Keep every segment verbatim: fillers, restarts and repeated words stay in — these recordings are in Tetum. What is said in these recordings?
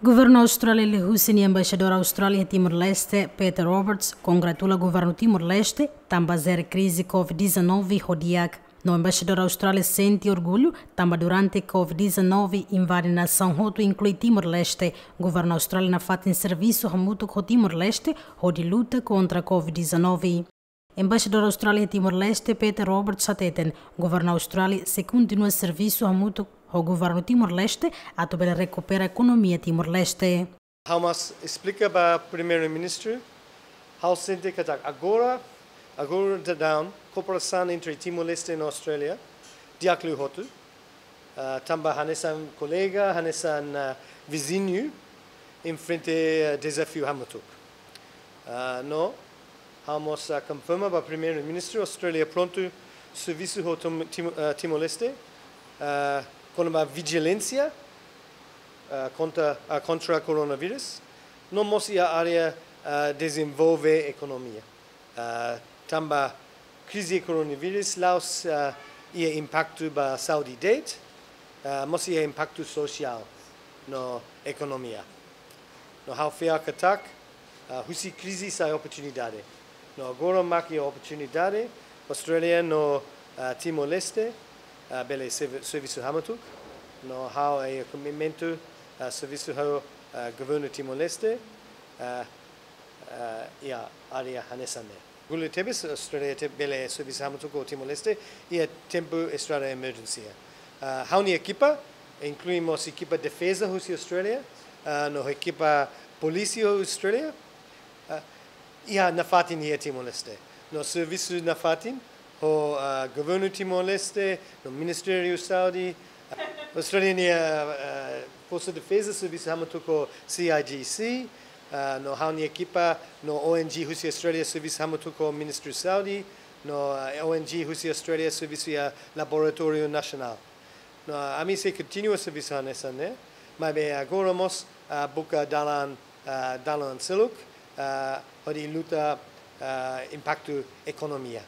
Governu Austrália liuhusi nia embaixadór Austrália iha Timor-Leste, Peter Roberts, kongratula governu Timor-Leste tanba jere krize COVID-19 ho di'ak. No embaixadór Austrália sente orgullu tanba durante COVID-19 invade nasaun hotu, inklui Timor-Leste, governu Austrália nafatin servisu hamutuk ho Timor-Leste hodi luta kontra COVID-19. Embaixadór Austrália iha Timor-Leste, Peter Roberts, hateten governu Austrália sei kontinua servisu hamutuk ho governu Timor-Leste atu bele rekupera ekonomia Timor-Leste. Ha'u mós esplika ba Primeiru-Ministru, ha'u sente katak agora, agora daudaun, kooperasaun entre Timor-Leste no Austrália di'ak liu hotu. Ah, tanba hanesan kolega, hanesan, ah, viziñu, enfrenta, ah, dezafiu hamutuk. Ah, no, ha'u mós, ah, konfirma ba Primeiru-Ministru, Austrália prontu servisu ho Tim-, Tim-, ah, Timor-Leste, ah, kona-ba vijilánsia, ah, kontra, ah, kontra koronavírus, no mós iha área, ah, dezenvolve ekonomia. Ah, tanba krize koronavírus la'ós, ah, iha impaktu ba saúde de'it, ah, mós iha impaktu sosiál no ekonomia. No ha'u fiar katak, ah, husi krize sai oportunidade. No agora mak iha oportunidade, Austrália no, ah, Timor-Leste, ah, bele servi-, servisu hamutuk. No ha'u iha komitmentu, ah, servisu ho, ah, governu Timor-Leste, ah, ah, iha área hanesan ne'e. Orgullu tebes Austrália atu bele servisu hamutuk ho Timor-Leste iha tempu estadu emerjénsia. Ah, ha'u-nia ekipa, inklui mós ekipa defeza husi Austrália, ah, no ekipa polísia Austrália, ah, iha nafatin iha Timor-Leste. No servisu nafatin ho, ah, governu Timor-Leste, no Ministériu Saúde, ah, Austrália nia, ah, Forsa Defeza servisu hamutuk ho C I G C, ah, no ha'u-nia ekipa, no O N G husi Austrália servisu hamutuk ho Ministériu Saúde, no, ah, O N G husi Austrália servisu iha Laboratóriu Nasionál. No, ah, ami sei kontinua servisu hanesan ne'e, maibé agora mós, ah, buka dalan, ah, dalan seluk, ah, hodi luta, ah, impaktu ekonomia.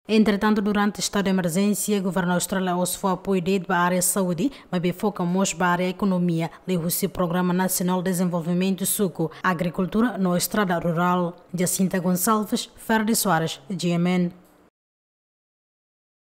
Entretantu, durante estadu de emerjénsia, governu Austrália la'ós fó apoiu de'it ba área saúde, maibé foka mós ba área ekonomia, liuhusi Programa Nasionál Dezenvolvimentu Suku, Agrikultura no Estrada Rurál. Jacinta Gonçalves, Ferdis Soares, G M N.